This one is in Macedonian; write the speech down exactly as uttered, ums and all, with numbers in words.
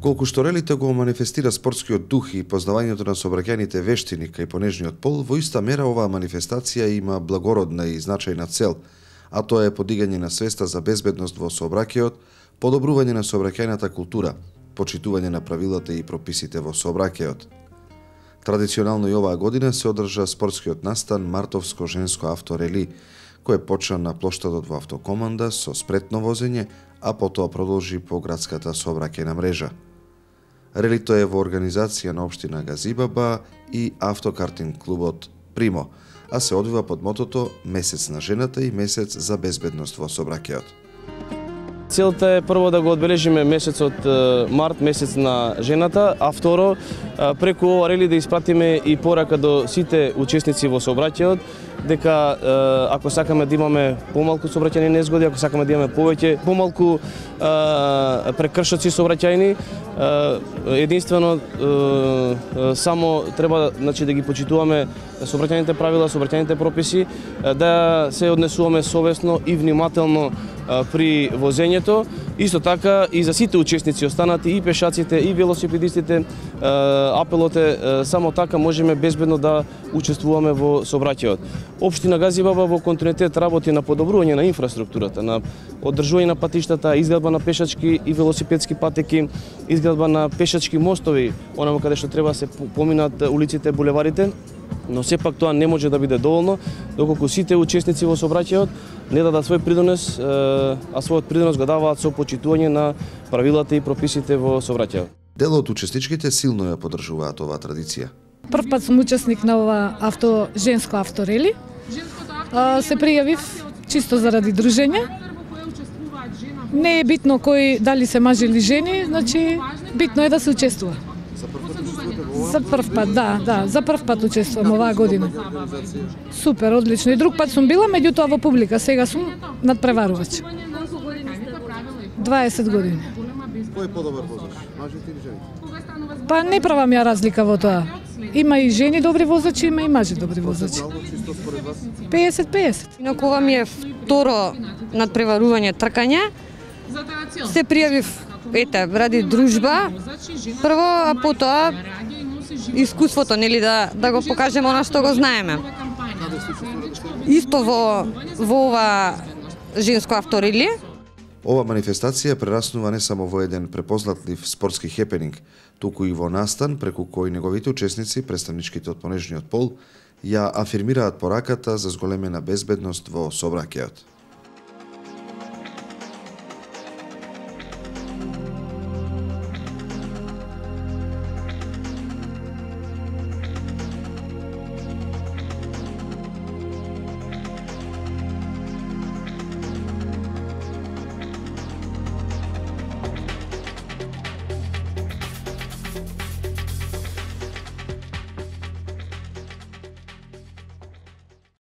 Колку што релите го манифестира спортскиот дух и познавањето на сообраќајните вештини кај понежниот пол, во иста мера оваа манифестација има благородна и значајна цел, а тоа е подигање на свеста за безбедност во сообраќајот, подобрување на сообраќајната култура, почитување на правилата и прописите во сообраќајот. Традиционално и оваа година се одржа спортскиот настан Мартовско женско авторели, кој почна на плоштадот во автокоманда со спретно возење, а потоа продолжи по градската сообраќајна мрежа. Релито е во организација на општина Газибаба и автокартинг клубот Примо, а се одвива под мотото Месец на жената и Месец за безбедност во сообраќајот. Целта е прво да го одбележиме месецот март, месец на жената, а второ преку ова рели да испратиме и порака до сите учесници во сообраќајот дека ако сакаме да имаме помалку сообраќајни незгоди, ако сакаме да имаме повеќе помалку прекршоци сообраќајни, единствено само треба, значи, да ги почитуваме сообраќајните правила, сообраќајните прописи, да се однесуваме совесно и внимателно при возењето. Исто така и за сите учесници останати, и пешаците, и велосипедистите, апелот е само така можеме безбедно да учествуваме во сообраќајот. Општина Газибаба во континуитет работи на подобрување на инфраструктурата, на одржување на патиштата, изградба на пешачки и велосипедски патеки, изградба на пешачки мостови, онamo каде што треба се поминат улиците, булеварите, но сепак тоа не може да биде доволно доколку сите учесници во сообраќајот не дадат свој придонес, а својот придонес го даваат со почитување на правилата и прописите во сообраќајот. Дел од учесничките силно ја поддржуваат оваа традиција. Прв пат сум учесник на ова авто женско авторели. Се пријавив чисто заради дружење. Не е битно кој дали се мажи или жени, значи битно е да се учествува. За прв пат, да, да, за прв пат учествувам оваа година. Супер, одлично. И друг пат сум била, меѓутоа во публика, сега сум надпреварувач. дваесет години. Кој е подобар возач, мажите или жените? Па не правам ја разлика во тоа. Има и жени добри возачи, има и мажи добри возачи. песет песет. Инаку ова ми е второ надпреварување тркање. Се пријавив, ете, ради дружба, прво, а потоа искуството, нели, да, да го покажеме она што го знаеме. Исто во, во ова женско авторели. Ова манифестација прераснува не само во еден препознатлив спортски хепенинг, туку и во настан преку кој неговите учесници, представничките од понежниот пол, ја афирмираат пораката за зголемена безбедност во сообраќајот.